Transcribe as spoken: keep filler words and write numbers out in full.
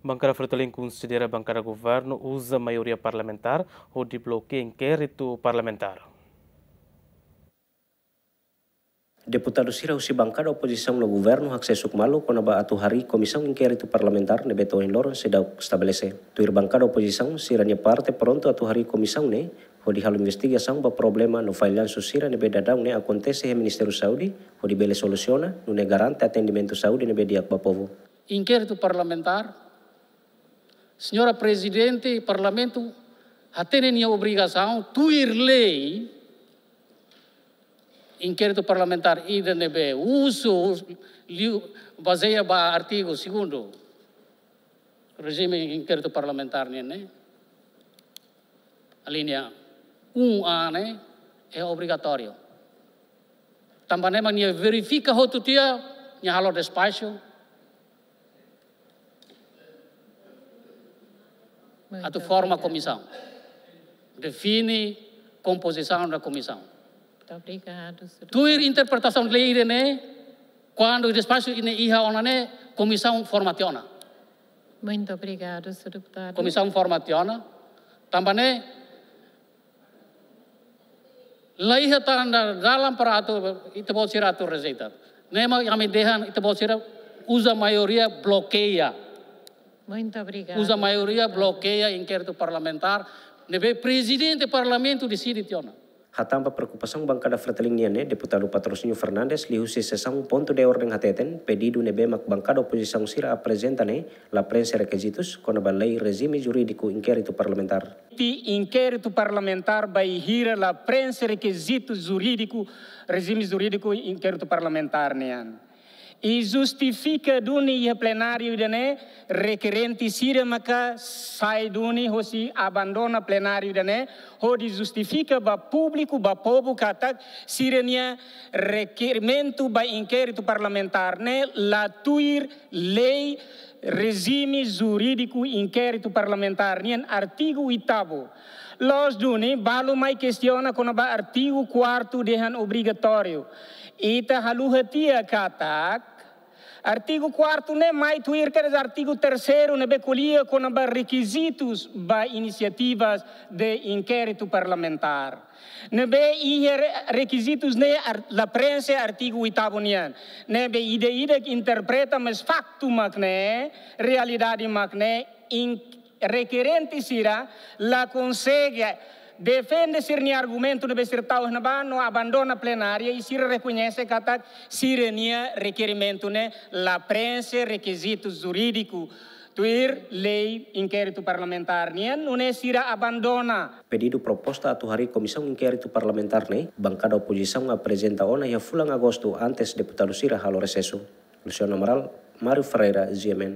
Bankada Fretilin konsidera bankada governu uza maioria parlamentár hodi blokeia inkéritu parlamentár. Deputadu sira husi bankada opozisaun no governu haksesu malu kona-ba atu harii komisaun inkéritu parlamentár ne'ebé to'o ohin loron seidauk estabelese. Tuir bankada opozisaun, sira-nia parte prontu atu harii komisaun ne'e hodi halo investigasaun ba problema no fallansu sira ne'ebé daudaun ne'e akontese iha Ministériu Saúde, hodi bele solusiona, nune'e garante atendimentu saúde ne'ebé di'ak ba povu. Inkéritu parlamentár, Señora Prezidente Parlamentu hatene nia obrigasaun tuir lei, inkéritu parlamentár ida ne'ebé uza liu bazeia ba artigu segundu, rejime inkéritu parlamentár nian ne'e, alínea um A ne'e, é obrigatóriu. Tanba ne'e mak nia verifika hotu tiha, nia halo despaxu, atu forma komisaun. Define kompozisaun da komisaun. Muito obrigado, senhor. Tuir interpretasaun lei ida-ne'e, kuandu despaxu ida-ne'e iha ona ne'e, komisaun forma tiha ona. Muito obrigado, senhor deputado. Komisaun forma tiha ona. Tanba ne'e, la iha tanda dalan para atu, ita-boot sira atu rejeita. Ne'e mak ami dehan ita-boot sira uza maioria blokeia. Muito obrigado, senhor deputado. Uza maioria blokeia inkéritu parlamentár ne'ebé Prezidente Parlamentu deside tiha ona. Hatán ba preokupasaun bankada Fretilin nian ne'e, Deputadu Patrocínio Fernandes, liuhusi sesaun pontu de orden hateten, pedidu ne'ebé mak bankada opozisaun sira aprezenta ne'e, la prenxe rekizitus, kona-ba lei rejime jurídiku inkéritu parlamentár. Ti inkéritu parlamentár bainhira la prenxe rekizitus jurídiku, rejime jurídiku inkéritu parlamentár nian. I justifika duni iha plenáriu ida-ne'e, rekerente sira maka sai duni hosi abandona plenáriu ida-ne'e, hodi justifika ba públiku, ba povu katak sira-nia rekerimentu ba inkéritu parlamentár ne'e la tuir lei rejime jurídiku inkéritu parlamentár nian artigu oitavu. Loos duni, balu mai kestiona kona-ba artigu kuartu dehan obrigatóriu. Ita haluha tiha katak, artigu kuartu ne'e mai tuir kedas artigu terseiru ne'ebé ko'alia kona-ba rekizitus ba inisiativas de inkéritu parlamentár. Ne'ebé iha re-, rekizitus ne'e ar-, la prenxe artigu oitavu nian. Ne'ebé ida-idak interpreta, mas faktu mak ne'e, realidade mak ne'e, in-, rekerente sira la konsege defende sira-nia argumentu ne'ebé sira tau iha ne'ebá no abandona plenária i sira rekoñese katak sira-nia rekerimentu ne'e la prenxe rekizitus jurídiku tuir lei inkéritu parlamentár nian, nune'e sira abandona. Pedidu proposta atu harii komisaun inkéritu parlamentár ne'e, bankada opozisaun aprezenta ona iha fulan Agostu antes deputadu sira halo resesu. Luciano Amaral, Mário Ferreira, G M N.